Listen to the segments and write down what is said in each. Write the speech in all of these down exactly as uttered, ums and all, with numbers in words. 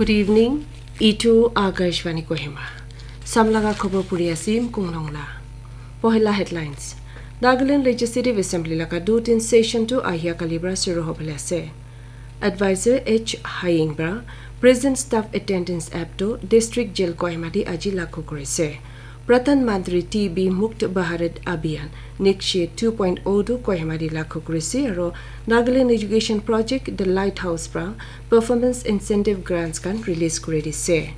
Good evening. Itu Akashvani Kohima. Samlaga khobor puri asim kunglongla. Pohela headlines. Nagaland Legislative Assembly laga dutin session tu ahia kalibra suru hobole ase. Advisor H Haying bra present staff attendance app tu District Jail Kohima di aji lakhu kurise. Pradhan Mantri T B Mukt Bharat Abhiyan Nikshe two point oh tu Kohima di lakhu kurise aro Nagaland Education Project The Lighthouse pra performance incentive grants kan release kuri dise.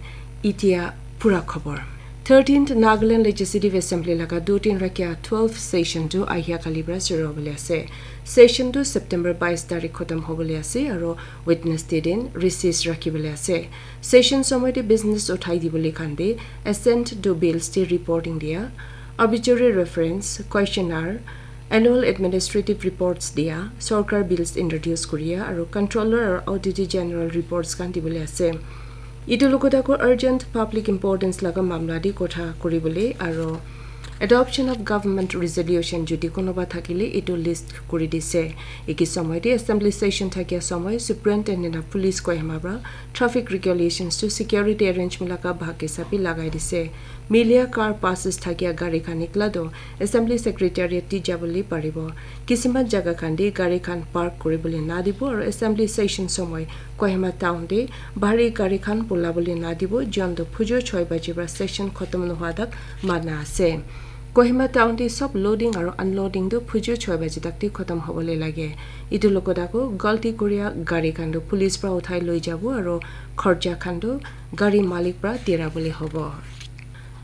Itia pura khobor. Thirteenth Nagaland Legislative Assembly laga dutin rakia twelve session tu ahia kalibra suru hobole ase. Session tu September bais tarik khotom hobole ase aro Wednesday din recess rakhi bole ase. Session somoy te business uthai dibole khan te assent to bills te reporting dia, obituary reference, questionnaire, annual administrative reports dia, sorkar bills introduce kuria aro controller aro auditor general reports khan dibole ase. Itu logot ako urgent public importance laga mamla di kotha kuribole aro adoption of government resolution jodi konoba thakile itu list kuri dise. Eki somoy te assembly session thakia somoy superintendent of police Kohima pra traffic regulations to security arrangement laga bhag hisabe lagai dise. Milia car passes thakia gari khan nikla do assembly secretariat ti jabole paribo. Kisiman jaga khan te gari khan park kuribole na dibo aro assembly session somoy Kohima town te bhari gari khan pula bole na dibo, jon to phujo choi baji pra session khotom nohwa tak mana ase. Kohima town te sob loading aro unloading tu phujo choi baji tak te khotom hobole lage. Itu logot ako galti kuria gari khan tu police pra uthai loi jabo aro khorcha khan tu gari malik pra dira bole hobo.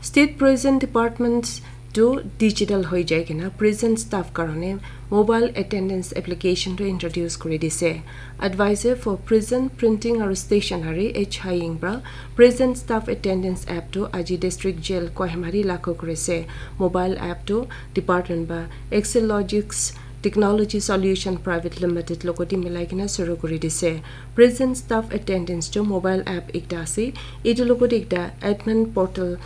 State present departments tu digital hoi jai kena present staff karone mobile attendance application tu introduce kuri dise. Advisor for present printing aro stationery H Haying pra present staff attendance app tu aji district jail Kohima di lakhu kurise. Mobile app tu department ba Excelogics Technology Solution Private Limited logot te milai kena suru kuri dise. Present staff attendance tu mobile app ekta ase. Itu logot ekta admin portal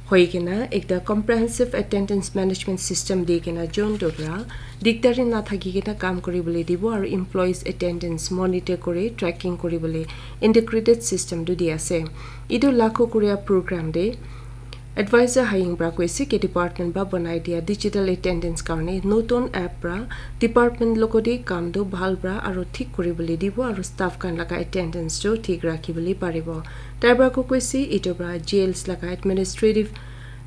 hoi kena ekta comprehensive attendance management system di kena jon tu pra dikdari na thaki kena kam kuribole dibo aro employees attendance monitor kuri tracking kuribole integrated system tu di ase. Itu lakhu kuria program te Advisor Haying pra koise ki department ba banai dia digital attendance karone notun app pra department logot te kam tu bhal pra aro thik kuribole dibo aro staff khan laga attendance tu thik rakhi bole paribo. Tai pra ko koise itu pra jails laga administrative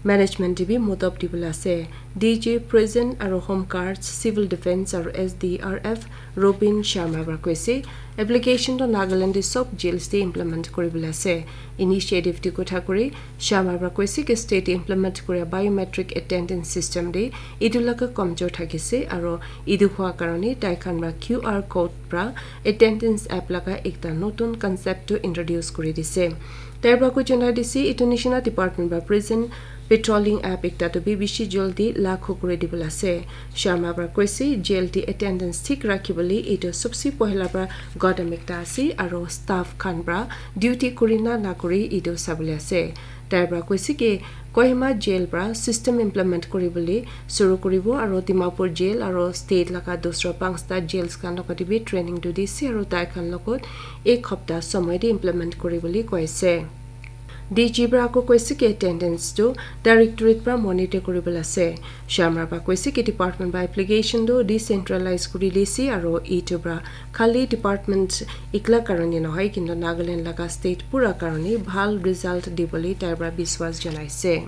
management te bi modop dibole ase. D G present aro home guards, civil defense aro S D R F Robin Sharma pra koise application to Nagaland te sob jails te implement kuribole ase. Initiative te kotha kuri Sharma pra koise ki state te implement kuria biometric attendance system te itu laga kamjor thakise aro itu hua karone tai khan pra Q R code pra attendance app laga ekta notun concept tu introduce kuri dise. Tai pra ko janai dise itu nishina department pra present patrolling app ekta tu bi bishi jaldi lakhu kuri dibole ase. Sharma pra koise jail te attendance thik rakhi bole itu sobse pohila pra gadam ekta ase aro staff khan pra duty kuri na na kuri itu sabole ase. Tai pra koise ki Kohima jail pra system implement kuribole suru kuribo aro Dimapur jail aro state laga dusra pangsta jails khan logot te bi training tu dise aro tai khan logot ek hapta somoy te implement kuribole koise. D G pra ako koise ki attendance tu directorate pra monitor kuribole ase. Sharma pra koise ki department ba application tu decentralize kuri dise aro itu pra khali department ikla karone nohoi kintu Nagaland laga state pura karone bhal result dibole tai pra biswas janaise.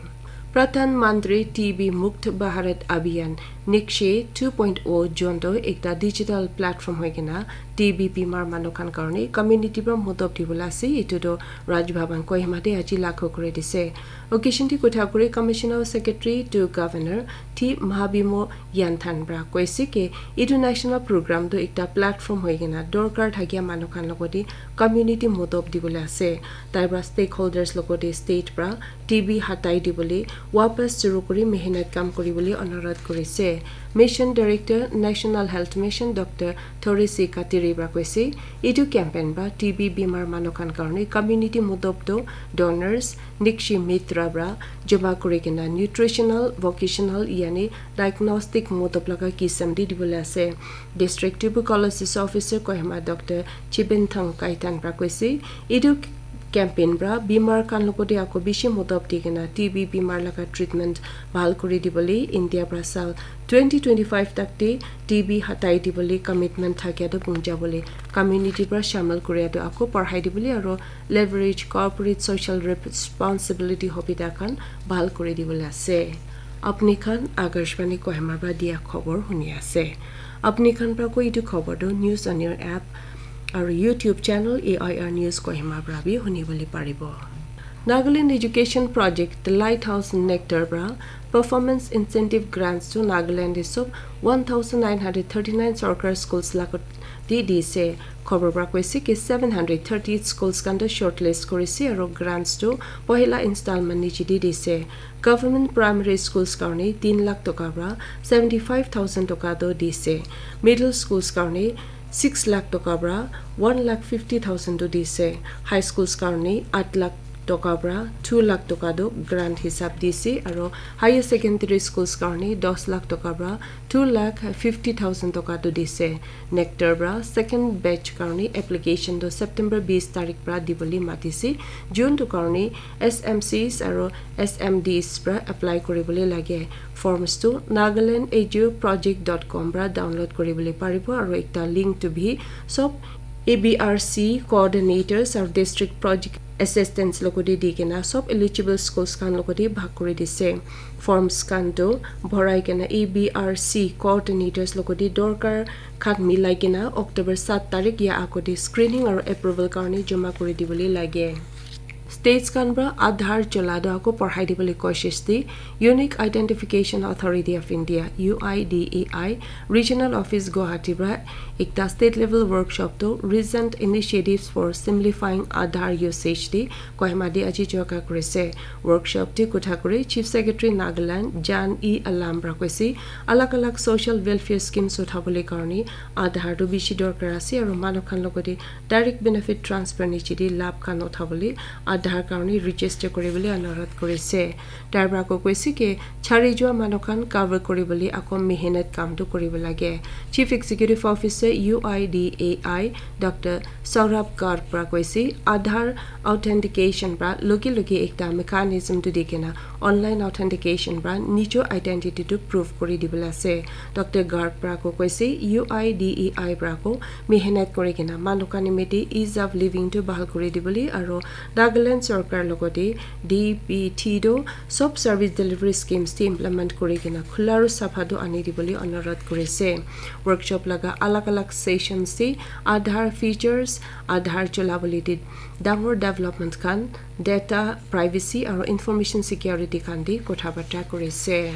Pradhan Mantri T B Mukt Bharat Abhiyan Nikshe two point oh jonto ekta digital platform hoi kena T B bimar manu khan karone community pra modop dibole ase. Itu tu Raj Bhavan Kohima te aji lakhu kuri dise. Occasion te kotha kuri Commissioner Secretary to Governor T Mahabimo Yanthan pra koise ki itu national program tu ekta platform hoi kena dorkar thakia manu khan logot te community modop dibole ase. Tai pra stakeholders logot te state pra T B hatai dibole wapas suru kuri mehnat kam kuribole onurodh kurise. Mission Director National Health Mission Doctor Thoresi Katiri pra koise itu campaign ba T B bimar manu khan karone community modop tu donors Nikshi Mitra pra joma kuri kena nutritional, vocational yani diagnostic modop laga kisam di dibole ase. District Tuberculosis Officer Kohima Doctor Chibenthang Kaitan pra koise itu campaign pra bimar khan logote ako bishi modop di kena T B bimar laga treatment bhal kuri dibole India pra sal twenty twenty-five tak te T B hatai dibole commitment thakia to punja bole community pra shamil kuria to ako parhai dibole aro leverage corporate social responsibility hobita khan bhal kuri dibole ase. Apni khan Akashvani Kohima pra dia khobor huni ase. Apni khan pra koi itu khobor to News on Air app aru YouTube channel A I R News Kohima pra bi huni bole paribo. Nagaland Education Project, The Lighthouse Nectar pra performance incentive grants to Nagaland isob one thousand nine hundred thirty-nine sarkar schools lagot di dise. Khobor pra koise ki seven hundred thirty-eight schools khan to shortlist korise aru grants to pohila installment niche di dise. Government primary schools karne tin lakh toka pra seventy five thousand toka to dise. Middle schools karne six lakh toka pra one lakh fifty thousand to dise. High schools karne eight lakh toka pra two lakh toka to grant hisab dise aru higher secondary schools karne ten lakh toka pra two lakh fifty thousand toka to dise. Nectar pra second batch karne application to September bis tarik pra dibole matise. June to karne S M Cs aru S M Ds pra apply kuribole lage. Forms to nagaland edu project dot com pra download kuribole paribo aru ekta link to bi sob A B R C coordinators aru district project assistants logote di kena sob eligible schools khan logote bhag kuri dise. Forms khan to bhorai kena A B R C coordinators logote dorkar khan milai kena October sat tarik ya agote screening aru approval karne joma kuri dibole lage. States khan pra Aadhaar chola to ako parhai dibole koshish di Unique Identification Authority of India, U I D A I, Regional Office Guwahati pra ekta state level workshop to recent initiatives for simplifying Aadhaar usage di Kohima di aji choka kurise. Workshop di kotha kuri Chief Secretary Nagaland Jan E Alam pra koise alag alag social welfare schemes uthabole karne Aadhaar to bishi dorkar ase aru manu khan logote direct benefit transfer niche di labh khan uthabole Aadhaar karne register kuribole anurodh kurise. Tar pra ako koise ki chari jua manu khan cover kuribole ako mehnat kam to kuribo lage. Chief Executive Officer U I D A I Doctor Saurabh Garg pra koise Aadhaar authentication pra loge loge ekta mechanism to di kena online authentication pra nijo identity to prove kuri dibole ase. Doctor Garg pra ako koise U I D A I pra ako mehnat kuri kena manu khan nimite ease of living to bhal kuri dibole aru Nagaland sorkar logote D B T to sob service delivery schemes te implement kuri kena khula aru sapha to ani dibole anurodh kurise. Workshop laga alag alag sessions te Aadhaar features, Aadhaar chola bole di dangor development khan, data privacy aru information security khan di kotha bata kurise.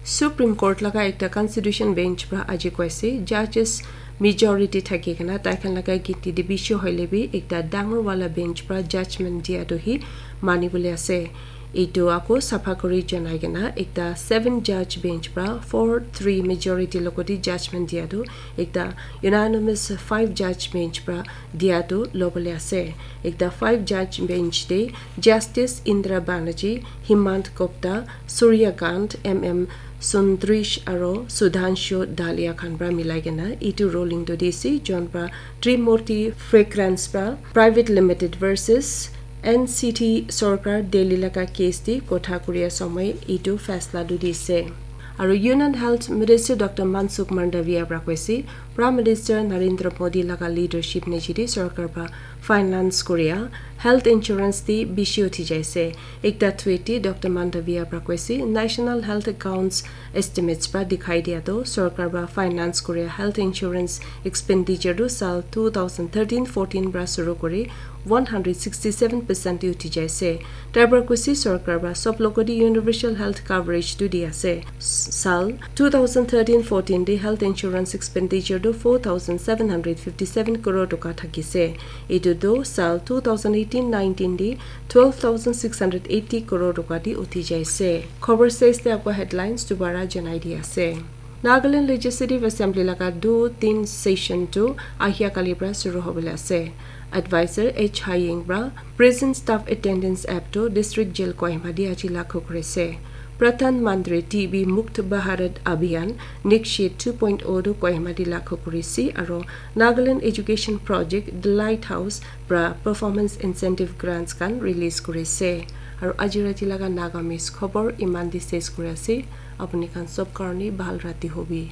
Supreme Court laga ekta constitution bench pra aji koise judges majority thaki kena tai khan laga ginti de bishi hoile bi ekta dangor wala bench pra judgment dia to hi mani bole ase. Etu ako sapha kuri janai kena ekta seven judge bench pra four three majority logote judgment dia to ekta unanimous five judge bench pra dia to lobole ase. Ekta five judge bench te Justice Indira Banerjee, Hemant Gupta, Surya Kant, M M Sundresh aro Sudhanshu Dalia khan pra milai kena etu ruling to dise, jon pra Trimurti Fragrance pra Private Limited versus N C T Sorkar Delhi laga case te kotha kuria samay etu faisla tu dise. Aru Union Health Minister Doctor Mansukh Mandaviya pra koise, Prime Minister Narendra Modi laga leadership niche te sorkar pra finance kuria health insurance te bishi uthi jaise. Ekta tweet te Doctor Mandaviya pra koise, National Health Accounts estimates pra dikhai dia to sorkar pra finance kuria health insurance expenditure tu sal two thousand thirteen fourteen pra shuru kuri one hundred sixty seven percent te uthi jaise. Tar pra koise sorkar pra sob logote universal health coverage tu di ase. Sal two thousand thirteen fourteen te health insurance expenditure tu four thousand seven hundred fifty seven crore toka thakise. Etu tu sal two thousand eighteen nineteen te twelve thousand six hundred eighty crore toka te uthi jaise. Khobor ses te ako headlines dubara janai di ase. Nagaland Legislative Assembly laga du tin session tu ahia kali pra shuru hobole ase. Advisor H Haying pra prison staff attendance app tu District Jail Kohima te aji laghu kurise. Pradhan Mantri T B Mukt Bharat Abhiyan Nikshay two point oh tu Kohima te lagu kuri ase, aro Nagaland Education Project The Lighthouse pra performance incentive grants khan release kuri ase. Aro aji rati laga Nagamese khobor iman te ses kuri ase. Apuni khan sob karone bhal rati hobi.